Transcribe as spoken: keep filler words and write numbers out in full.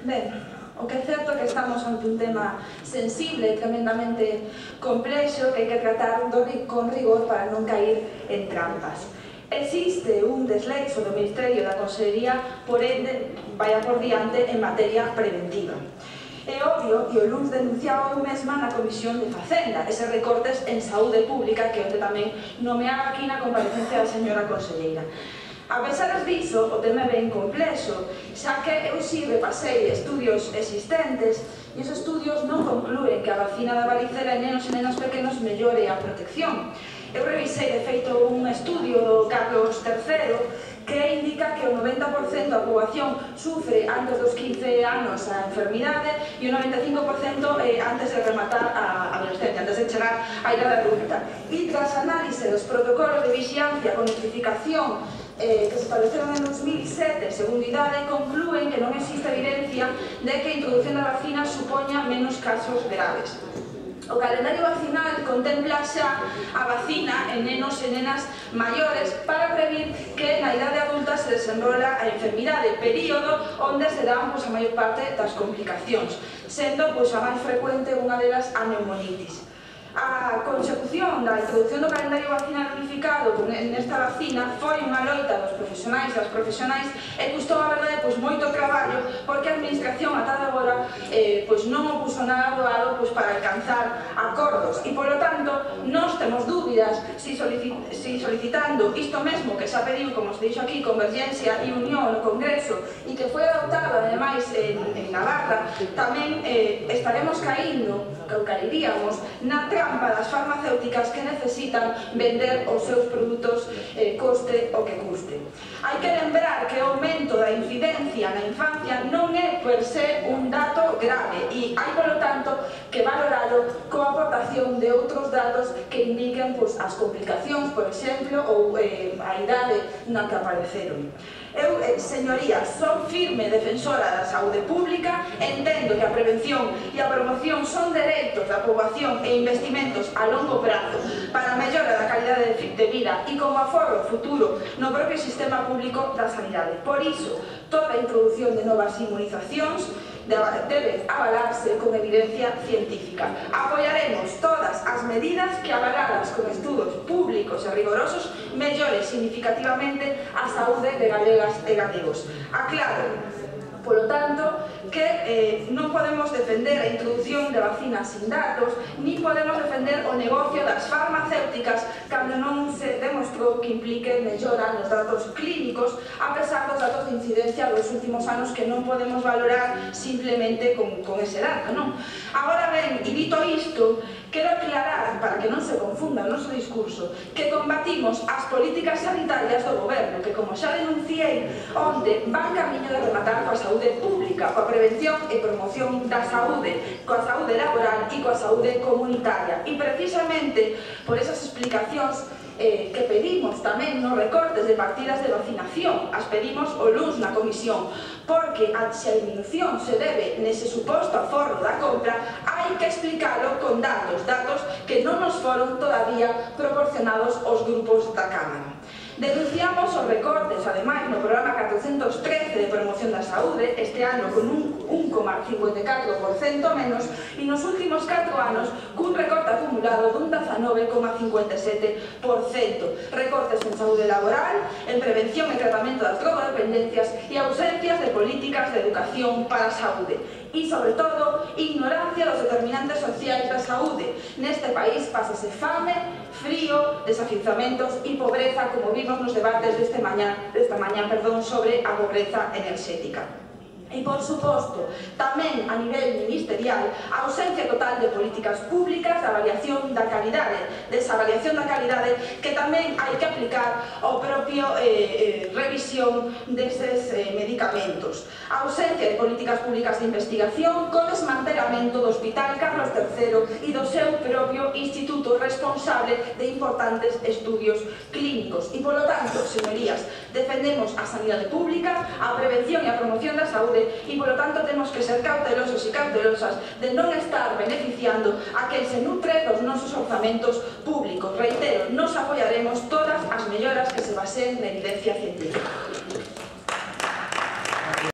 Ben, o que é certo é que estamos ante un tema sensible e tremendamente complexo que hai que tratar con rigor para non caer en trampas. Existe un desleixo do Ministerio da Consellería, por ende, vaya por diante en materia preventiva. É obvio, e o luns denunciaba eu mesma na Comisión de Facenda, eses recortes en saúde pública que onde tamén nomeaba aquí na comparecencia da señora conselleira. A pesar diso, o tema é ben complexo, xa que eu si repasei estudios existentes e os estudios non conclúen que a vacina da varicela en nenos e nenas pequenos mellore a protección. Eu revisei, de feito, un estudio do Carlos terceiro que indica que o noventa por cento da poboación sufre antes dos quince anos a enfermidade e o noventa e cinco por cento antes de rematar a adolescencia, antes de chegar á idade adulta. E tras análise dos protocolos de vixiancia con notificación que se estableceron en dos mil sete, segundo idade, conclúen que non existe evidencia de que a introducción da vacina supoña menos casos graves. O calendario vacinal contempla xa a vacina en nenos e nenas maiores para prevenir que na idade adulta se desenrola a enfermidade, período onde se dan a maior parte das complicacións, sendo a máis frecuente unha delas a neumonitis. A consecución da introducción do calendario vacinal unificado nesta vacina foi unha loita dos profesionais e das profesionais e custou, a verdade, moito traballo porque a administración ata agora non o puso nada doado para alcanzar acordos e, polo tanto, nós temos dúbidas si solicitando isto mesmo que xa pediu, como se dixo aquí, Convergencia e Unión no Congreso e que foi adoptado, ademais, en Navarra, tamén estaremos caindo, que caeríamos, na trampa das farmacéuticas que necesitan vender os seus produtos coste o que custe. Hai que lembrar que o aumento da incidencia na infancia non é per se un dato grave e hai, polo tanto, que valoralo coa aportación de outros datos que indiquen as complicacións, por exemplo, ou a idade na que apareceron. Eu, señorías, son firme defensora da saúde pública, entendo que a prevención e a promoción son dereitos da poboación e investimentos a longo prazo para a mellora da calidade de vida e como aforro futuro no propio sistema público da sanidade. Por iso, toda a introdución de novas inmunizacións debe avalarse con evidencia científica. Apoiaremos todas as medidas que, avaladas con estudos públicos e rigorosos, mellore significativamente a saúde de galegas e galegos. Aclaro, polo tanto, que non podemos defender a introducción de vacinas sin datos, ni podemos defender o negocio das farmacéuticas cando non se demostrou que implique mellora nos datos clínicos, a pesar dos datos de incidencia dos últimos anos que non podemos valorar simplemente con ese dato, non? Agora ben, e dito isto, quero aclarar, para que non se confunda o noso discurso, que combatimos as políticas sanitarias do goberno, que, como xa denunciei, onde van camiño de rematar coa saúde pública, coa prevención e promoción da saúde, coa saúde laboral e coa saúde comunitaria. E precisamente por esas explicacións que pedimos tamén nos recortes de partidas de vacinación, as pedimos o luns na comisión, porque se a diminución se debe nese suposto aforro da compra, hai que explicalo con datos, datos que non nos foron todavía proporcionados aos grupos da Cámara. Denunciamos os recortes, ademais, no programa catrocentos trece de promoción da saúde, este ano con un un coma cincuenta e catro por cento menos, e nos últimos catro anos cun recorte acumulado dun dezanove coma cincuenta e sete por cento. Recortes en saúde laboral, en prevención e tratamento das drogodependencias e ausencias de políticas de educación para a saúde. E, sobre todo, ignorancia dos determinantes sociais da saúde. Neste país pásase fame, frío, desafiuzamentos e pobreza, como vimos nos debates desta mañá sobre a pobreza enerxética. E, por suposto, tamén a nivel ministerial, a ausencia total de políticas públicas, a avaliación da calidade, desa avaliación da calidade que tamén hai que aplicar ao propio revisión deses medicamentos. A ausencia de políticas públicas de investigación con desmantelamento do Hospital Carlos terceiro e do seu propio instituto responsable de importantes estudios clínicos. E, polo tanto, señorías, defendemos a sanidade pública, a prevención e a promoción da saúde e, polo tanto, temos que ser cautelosos e cautelosas de non estar beneficiando a quen se nutre dos nosos orzamentos públicos. Reitero, nos apoiaremos todas as melloras que se baseen na evidencia científica.